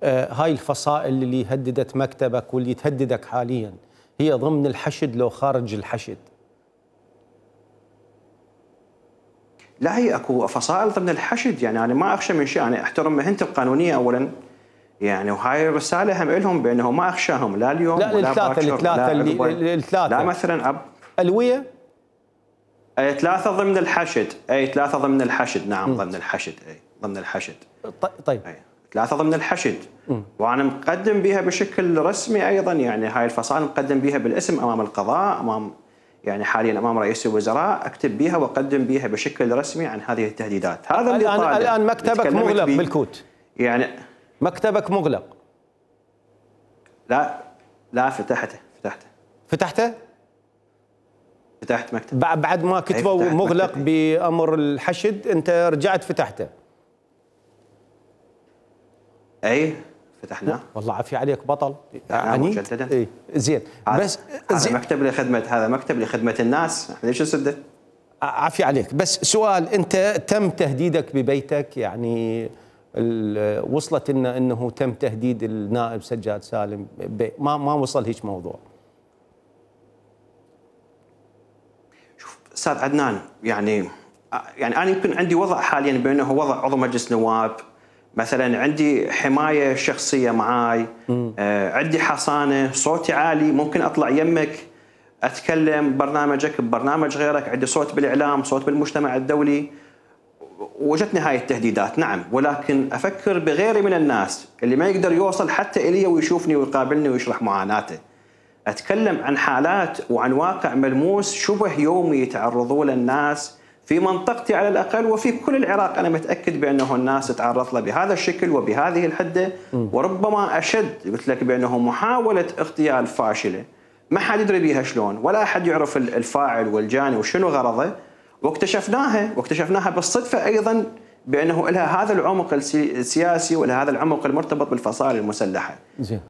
هاي الفصائل اللي هددت مكتبك واللي تهددك حاليا هي ضمن الحشد لو خارج الحشد؟ لا، هي اكو فصائل ضمن الحشد، يعني انا ما اخشى من شيء، انا احترم مهنتي القانونيه اولا، يعني وهاي الرساله هم لهم بانه ما اخشاهم لا اليوم لا ولا الثلاثه باكر الثلاثه لا مثلا الويه اي ثلاثه ضمن الحشد، اي ثلاثه ضمن الحشد، نعم ضمن الحشد، اي ضمن الحشد. طيب أي. ثلاثه ضمن الحشد. وانا مقدم بها بشكل رسمي ايضا، يعني هاي الفصائل مقدم بها بالاسم امام القضاء، امام يعني حاليا امام رئيس الوزراء، اكتب بها واقدم بها بشكل رسمي عن هذه التهديدات. هذا اللي طالع. الان مكتبك مغلق بالكوت، يعني مكتبك مغلق؟ لا فتحته. فتحت مكتب بعد ما كتبوا مغلق بامر الحشد، انت رجعت فتحته؟ اي فتحناه. والله عافية عليك بطل يعني مجددا. اي زين. بس هذا مكتب لخدمة الناس، ليش نسده؟ عافية عليك. بس سؤال، انت تم تهديدك ببيتك؟ يعني وصلت انه تم تهديد النائب سجاد سالم؟ ما وصل هيك موضوع؟ شوف استاذ عدنان، يعني انا يمكن عندي وضع حاليا بانه وضع عضو مجلس نواب، مثلا عندي حمايه شخصيه معاي، عندي حصانه، صوتي عالي، ممكن اطلع يمك اتكلم برنامجك ببرنامج غيرك، عندي صوت بالاعلام، صوت بالمجتمع الدولي. وجتني هاي التهديدات نعم، ولكن افكر بغيري من الناس اللي ما يقدر يوصل حتى الي ويشوفني ويقابلني ويشرح معاناته. اتكلم عن حالات وعن واقع ملموس شبه يومي يتعرضوا له الناس في منطقتي على الأقل، وفي كل العراق. أنا متأكد بأنه الناس تتعرض له بهذا الشكل وبهذه الحدة، وربما أشد. قلت لك بأنه محاولة اغتيال فاشلة ما حد يدري بيها شلون، ولا أحد يعرف الفاعل والجاني وشنو غرضه، واكتشفناها بالصدفة أيضا بأنه لها هذا العمق السياسي ولها هذا العمق المرتبط بالفصائل المسلحة.